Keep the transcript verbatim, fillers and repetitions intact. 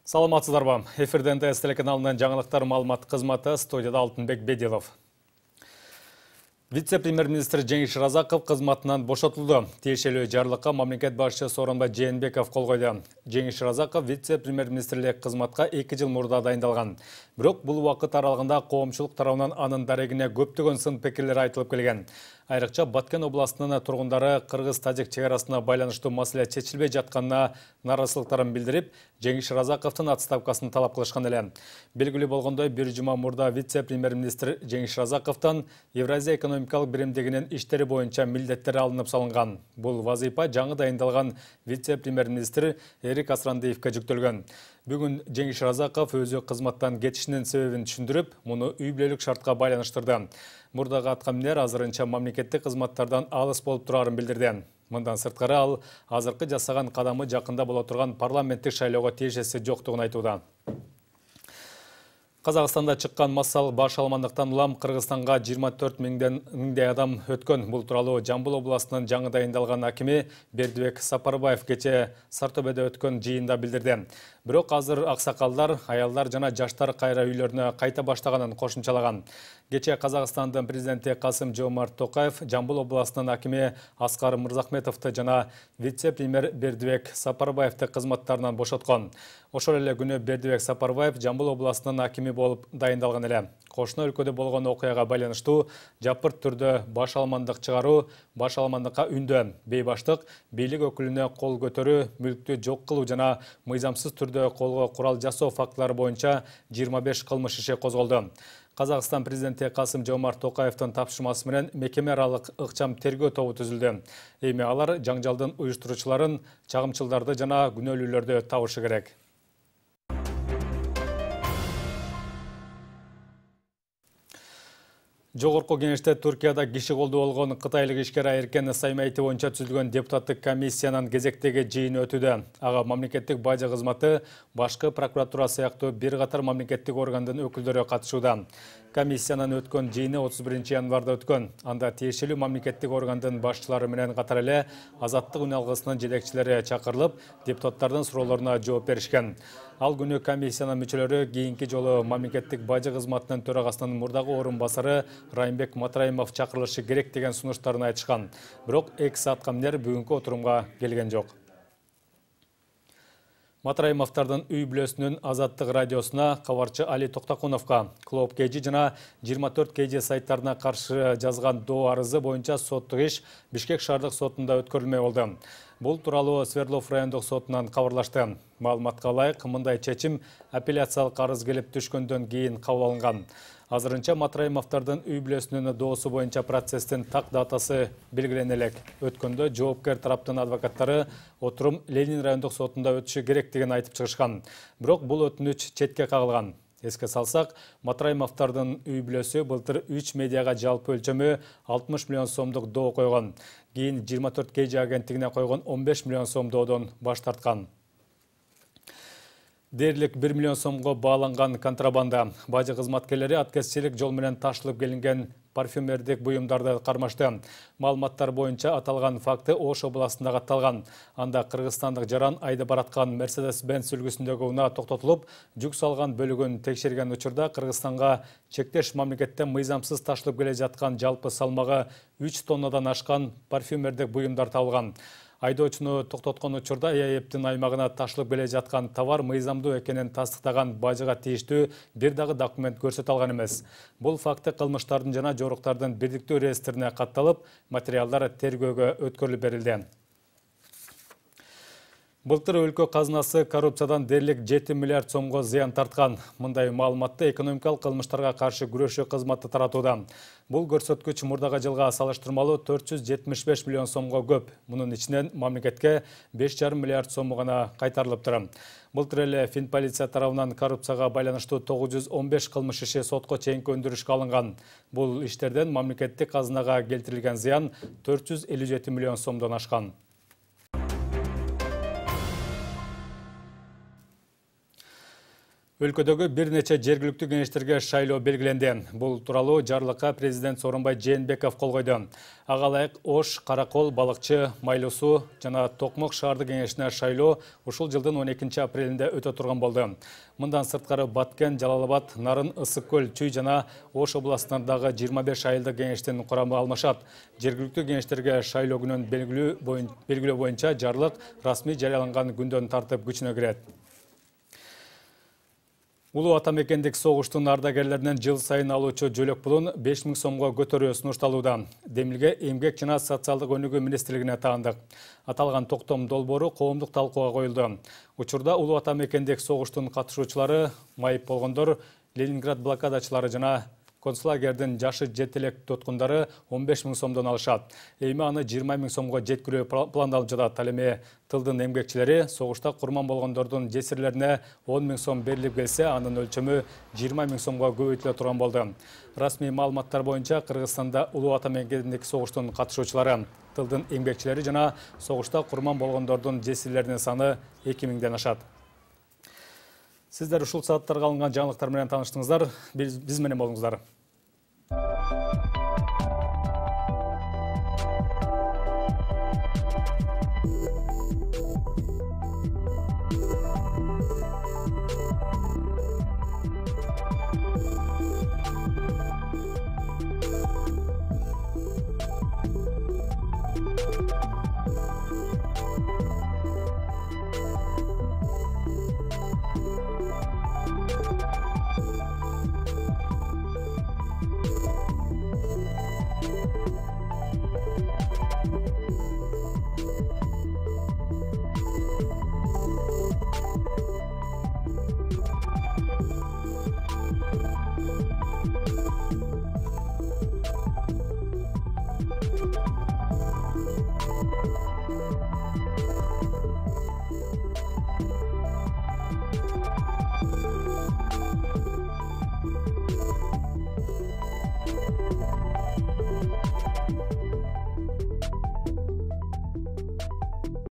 Саламатсыздарбы? Эфирде эн тэ эс телеканалынын жаңылыктар маалымат кызматы, студияда Алтынбек Бедилов. Вице-премьер-министр Жеңиш Разаков кызматынан бошотулду. Тиешелүү жарлыкка мамлекет башчысы Сооронбай Жээнбеков кол койду. Жеңиш Разаков вице-премьер-министрлик кызматка эки жыл мурда дайындалган. Бирок бул убакыт аралыгында коомчулук тарабынан анын дарегине көптөгөн сын пикирлер айтылып келген. Айрыкча Баткен областынын тургундары кыргыз-тажик чек арасына байланыштуу маселе чечилбей жатканына нааразычылыктарын билдирип, Жеңиш Разаковдун отставкасын талап кылышкан эле. Белгилүү болгондой, бир жума мурда вице-премьер-министр Жеңиш Разаковдон Евразия экономикалык биримдигинин иштери боюнча милдеттер алынып салынган. Бул вазыйфа жаңы дайындалган вице-премьер-министр Эрик Асрандиевке жүктөлгөн. Бүгүн Жеңиш Разаков өзү кызматтан кетишинин себебин түшүндүрүп, муну үй бүлөлүк шартка байланыштырды. Мурдагы аткаминер азырынча мамлекеттик кызматтардан алыс болуп турарын билдирди. Мындан сырткары ал азыркы жасаган кадамы жакында боло турган парламенттик шайлоого тиешеси жоктугун айтууда. Казакстанда чыккан массалык баш алмандыктан улам Кыргызстанга жыйырма төрт миңдей адам өткөн. Бул тууралуу Жамбыл областынын жаңы дайындалган акими Бердибек Сапарбаев кечээ Сартобедө өткөн жыйында билдирди. Бирок азыр аксакалдар, аялдар жана жаштар кайра үйлөрүнө кайта баштаганын кошумчалаган. Кечээ Казакстандын президенти Касым-Жомарт Токаев Жамбыл областынын акими Аскар Мырзахметовду жана вице-премьер Бердибек Сапарбаевди кызматтарынан бошоткон. Ошол эле күнү Бердибек Сапарбаев Жамбыл областынын акими болуп дайындалган эле. Кошуна өлкөдө болгон окуяга байланыштуу жапырт түрдө баш алмандык чыгаруу, баш алмандыкка үндөө, бейбаштык, бийлик өкүлүнө кол көтөрүү, мүлктү жок кылуу жана мыйзамсыз түрдө колго курал жасоо фактылары боюнча жыйырма беш кылмыш иши козголду. Казакстан президенти Касым-Жомарт Токаевдин тапшырмасы менен мекеме аралык ыкчам тергөө тобу түзүлдү. Эми алар жаңжалдын уюштуруучуларын, чагымчылдарды жана күнөөлүүлөрдү табышы керек. Жогорку кеңеште Түркияда киши колдуу болгон кытайлык ишкер Эркен Саймайти боюнча түзүлгөн депутаттык комиссиянын кезектеги жыйыны өтүүдө. Ага мамлекеттик бажы кызматы, башкы прокуратура сыяктуу бир катар мамлекеттик органдын өкүлдөрү катышууда. Комиссиянын өткөн жыйыны отуз биринчи январда өткөн. Анда тиешелүү мамлекеттик органдын башчылары менен катар эле Азаттык үн алгысынын жетекчилери чакырылып, депутаттардын суроолоруна жооп беришкен. Ал күнү комиссиянын мүчөлөрү кийинки жолу мамлекеттик бажы кызматынын төрагасынын мурдагы орун басары Райымбек Матраимов чакырылышы керек деген сунуштарын айтышкан. Бирок экс аткаминер бүгүнкү отурумга келген жок. Матраимовдардын үй бүлөсүнүн Азаттык радиосуна, кабарчы Али Токтакуновго, Клоп кей джи жана жыйырма төрт кей джи сайттарына каршы жазган доо арызы боюнча соттук иш Бишкек шаардык сотунда өткөрүлмөй болду. Бул тууралуу Свердлов райондук сотунан кабарлашты. Маалыматка ылайык, мындай чечим апелляциялык арыз келип түшкөндөн кийин кабыл алынган. Азырынча Матраимовдардын үй бүлөсүнүн доосу боюнча процесстин так датасы белгилене элек. Өткөндө жоопкер тараптын адвокаттары отурум Ленин райондук сотунда өтүшү керек деген айтып чыгышкан. Бирок бул өтүнүч четке кагылган. Эске салсак, Матраимовдардын үй бүлөсү былтыр үч медиага жалпы өлчөмү алтымыш миллион сомдук доо койгон. Кийин жыйырма төрт кей джи агенттигине койгон он беш миллион сом доодон баш тарткан. Дээрлик бир миллион сомго бааланган контрабанда. Бажы кызматкерлери аткезчилик жол менен ташылып келинген парфюмердик буюмдарды кармашты. Маалыматтар боюнча аталган факты Ош областында катталган. Анда кыргызстандык жаран айдап бараткан Mercedes-Benz үлгүсүндөгү унаа токтотулуп, жүк салган бөлүгүн текшерген учурда Кыргызстанга чектеш мамлекеттен мыйзамсыз ташылып келе жаткан жалпы салмагы үч тоннадан ашкан парфюмердик буюмдар табылган. Айдоочуну токтоткон учурда ЭАЭптин аймагына ташылып келе жаткан товар мыйзамдуу экенин тастыктаган бажыга тийиштүү бир дагы документ көрсөтө алган эмес. Бул факты кылмыштардын жана жоруктардын бирдиктүү реестрине катталып, материалдар тергөөгө өткөрүлүп берилди. Былтыр өлкө казынасы коррупциядан дээрлик жети миллиард сомго зыян тарткан. Мындай маалыматты экономикалык кылмыштарга каршы күрөшүү кызматы таратууда. Бул көрсөткүч мурдагы жылга салыштырмалуу төрт жүз жетимиш беш миллион сомго көп. Мунун ичинен мамлекетке беш жарым миллиард сому гана кайтарылыптыр. Былтыр эле Финполиция тарабынан коррупцияга байланыштуу тогуз жүз он беш кылмыш иши сотко чейинки өндүрүшкө алынган. Бул иштерден мамлекеттик казынага келтирилген зыян төрт жүз элүү жети миллион сомдон ашкан. Өлкөдөгү бир нече жергиликтүү кеңештерге шайлоо белгиленди. Бул тууралуу жарлыкка президент Сооронбай Жээнбеков кол койду. Ага ылайык Ош, Каракол, Балыкчы, Майлуу суу жана Токмок шаардык кеңешине шайлоо ушул жылдын он экинчи апрелинде өтө турган болду. Мындан сырткары Баткен, Жалал-Абад, Нарын, Ысык көл, Чүй жана Ош областарындагы жыйырма беш айылдык кеңештин курамы алмашат. Жергиликтүү кеңештерге шайлоо күнүн белгилөө боюнча жарлык расмий жарыяланган күндөн тартып күчүнө кирет. Улуу ата мекендик согуштун ардагерлеринен жыл сайын алуучу жөлөк пулун беш миң сомго көтөрүү сунушталууда. Демилге эмгек жана социалдык өнүгүү министрлигине таандык. Аталган токтом долбоору коомдук талкууга коюлду. Учурда улуу ата мекендик согуштун катышуучулары, майып болгондор, Ленинград блокадачылары жана концлагердин жашы жети элек тоткундары он беш миң сомдон алышат. Эми аны жыйырма миң сомго жеткирүү пландалып жатат. Ал эми тылдын эмгекчилери согушта курман болгондордун жесирлерине он миң сом берилип келсе, анын өлчөмү жыйырма миң сомго көбөйтүлө турган болду. Расмий маалыматтар боюнча Кыргызстанда улуу ата мекендик согуштун катышуучулары, тылдын эмгекчилери жана согушта курман болгондордун жесирлеринин саны эки миңден ашат. Сиздер ушул сааттарга алынган жаңылыктар менен тааныштыңыздар. Биз менен болуңуздар.